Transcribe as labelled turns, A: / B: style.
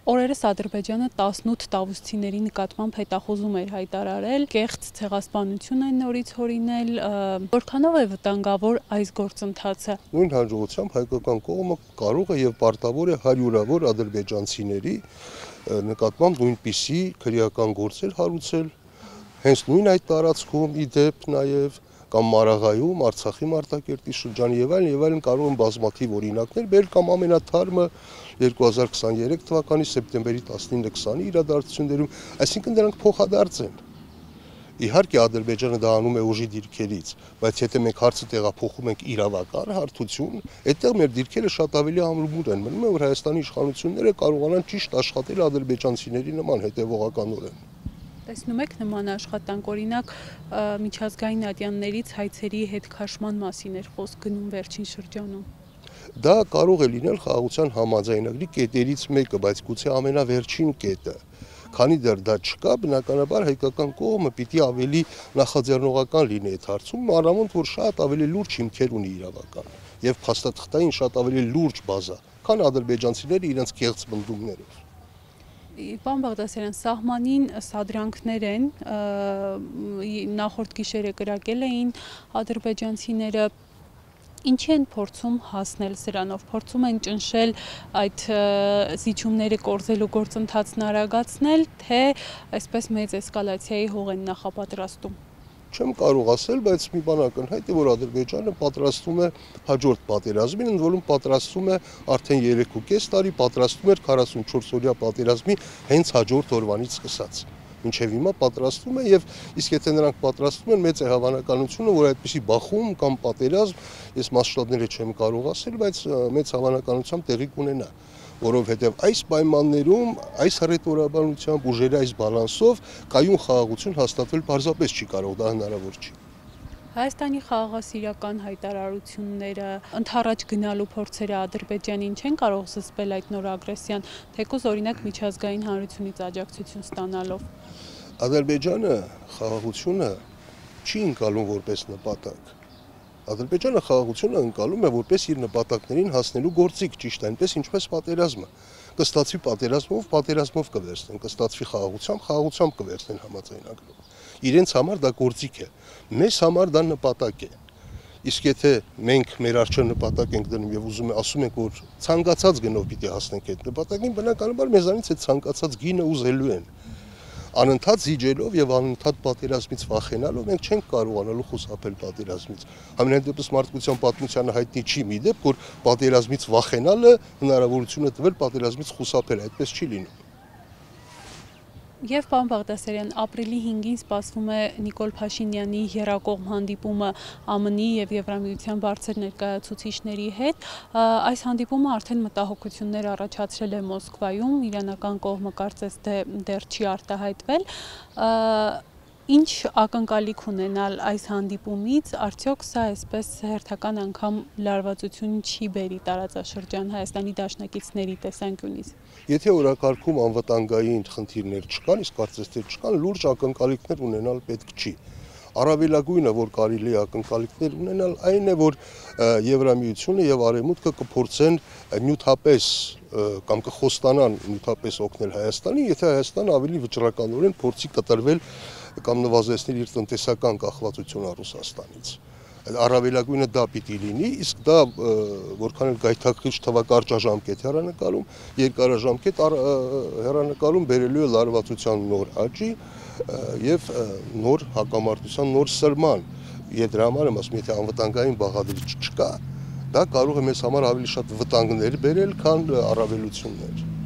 A: Օրերս Ադրբեջանը 18 տավուշցիների նկատմամբ հետախուզում էր հայտարարել, կեղծ ցեղասպանություն են նորից հորինել, որքանով է վտանգավոր այս գործընթացը։
B: Նույն հաջողությամբ հայկական կողմը կարող է եւ պարտավոր է հարյուրավոր ադրբեջանցիների նկատմամբ նույնպիսի քրեական գործեր հարուցել, հենց նույն այդ տարածքում ի դեպ նաեւ կամ Մարաղայում, Արցախի Մարտակերտի շրջանի եւ այլն կարող են բազմաթիվ օրինակներ բերել կամ ամենաթարմը 2023 թվականի սեպտեմբերի 19-20-ի իրադարձություններում, այսինքն դրանք փոխադարձ են։ Իհարկե Ադրբեջանը դա անում է ուժի դիրքերից, բայց եթե մենք հարցը տեղափոխում ենք իրավական հարթություն, այդտեղ մեր դիրքերը շատ ավելի ամրումուր են մնում, որ Հայաստանի իշխանությունները կարողանան ճիշտ աշխատել ադրբեջանցիների նման հետևողականորեն։
A: Տեսնում եք նման աշխատանք, օրինակ միջազգային ատյաններից հայցերի հետ քաշման մասին էր խոսք գնում վերջին շրջանում։
B: Դա կարող է լինել խաղաղության համաձայնագրի կետերից մեկը, բայց գուցե ամենավերջին կետը։ Քանի դեռ դա չկա, բնականաբար հայկական կողմը պիտի ավելի նախաձեռնողական լինի այդ հարցում, առավել որ շատ ավելի լուրջ հիմքեր ունի իրավական եւ փաստաթղթային շատ ավելի լուրջ բազա, քան ադրբեջանցիները իրենց կեղծ բնդումներով։
A: Պարոն Բաղդասարյան, սահմանին սադրանքներ են, նախորդ գիշերը կրակել էին ադրբեջանցիները, ինչի են փորձում հասնել սրանով, փորձում են ճնշել այդ զիջումները կորզելու գործընթացն արագացնել, թե այսպես մեծ էսկալացիայի հող են նախապատրաստում։
B: Չեմ կարող ասել, բայց մի բան ակնհայտ է, որ Ադրբեջանը պատրաստում է հաջորդ պատերազմին, ընդ որում պատրաստում է արդեն 3.5 տարի, պատրաստում էր 44-օրյա պատերազմի հենց հաջորդ օրվանից սկսած։ Մինչև հիմա պատրաստվում է եւ իսկ եթե նրանք պատրաստվում են, մեծ է հավանականությունը, որ այդպիսի բախում կամ պատերազմ, ես մասշտաբները չեմ կարող ասել, բայց մեծ հավանականությամբ տեղի կունենա, որովհետեւ այս պայմաններում, այս հռետորաբանությամբ, ուժերի այս բալանսով կայուն խաղաղություն հաստատվել պարզապես չի կարող, դա հնարավոր չի։
A: Հայաստանի խաղաղասիրական հայտարարությունները, ընդառաջ գնալու փորձերը Ադրբեջանին չեն կարող զսպել այդ նոր ագրեսիան, թեկուզ օրինակ միջազգային հանրությունից աջակցություն ստանալով։
B: Ադրբեջանը խաղաղությունը չի ընկալում որպես նպատակ։ Ադրբեջանը խաղաղությունը ընկալում է որպես իր նպատակներին հասնելու գործիք, ճիշտ այնպես ինչպես պատերազմը։ Կստացվի պատերազմով կվերցնեն, կստացվի խաղաղությամբ կվերցնեն համաձայնագրով։ Իրենց համար դա գործիք է, մեզ համար դա նպատակ է։ Իսկ եթե մենք մեր առջև նպատակ ենք դնում եւ ասում ենք, որ ցանկացած գնով պիտի հասնենք այդ նպատակին, բնականաբար մեզանից այդ ցանկացած գինը ուզելու են։ Անընդհատ զիջելով եւ անընդհատ պատերազմից վախենալով մենք չենք կարողանալու խուսափել պատերազմից։ Ամենայն դեպս մարդկության պատմությանը հայտնի չի մի դեպք, որ պատերազմից վախենալը հնարավորություն է տվել պատերազմից խուսափել, այդպես չի լինում։
A: Եվ պարոն Բաղդասարյան, ապրիլի 5-ին սպասվում է Նիկոլ Փաշինյանի եռակողմ հանդիպումը ԱՄՆ-ի եւ Եվրամիության բարձր ներկայացուցիչների հետ։ Այս հանդիպումը արդեն մտահոգություններ առաջացրել է Մոսկվայում, իրանական կողմը կարծես թե դեռ չի արտահայտվել։ Ինչ ակնկալիք ունենալ այս հանդիպումից, արդյոք սա այսպես հերթական անգամ լարվածություն չի բերի տարածաշրջան Հայաստանի դաշնակիցների տեսանկյունից։
B: Եթե օրակարգում անվտանգային խնդիրներ չկան, իսկ կարծես թե չկան, լուրջ ակնկալիքներ ունենալ պետք չի։ Առավելագույնը, որ կարելի է ակնկալիքներ ունենալ, այն է, որ Եվրամիությունը եւ Արևմուտքը կփորձեն նյութապես կամ կխոստանան նյութապես օգնել Հայաստանին, եթե Հայաստանը ավելի վճռականորեն փորձի կտրվել կամ նվազեցնել իր տնտեսական կախվածությունը Ռուսաստանից։ Առավելագույնը դա պիտի լինի, իսկ դա որքան էլ գայթակղիչ թվա կարճաժամկետ հեռանկարում, երկարաժամկետ հեռանկարում բերելու է լարվածության նոր աճի եւ նոր հակամարտության նոր սրման։ Դրա համար եմ ասում, եթե անվտանգային բաղադրիչ չկա, դա կարող է մեզ համար ավելի շատ վտանգներ բերել, քան առավելություններ։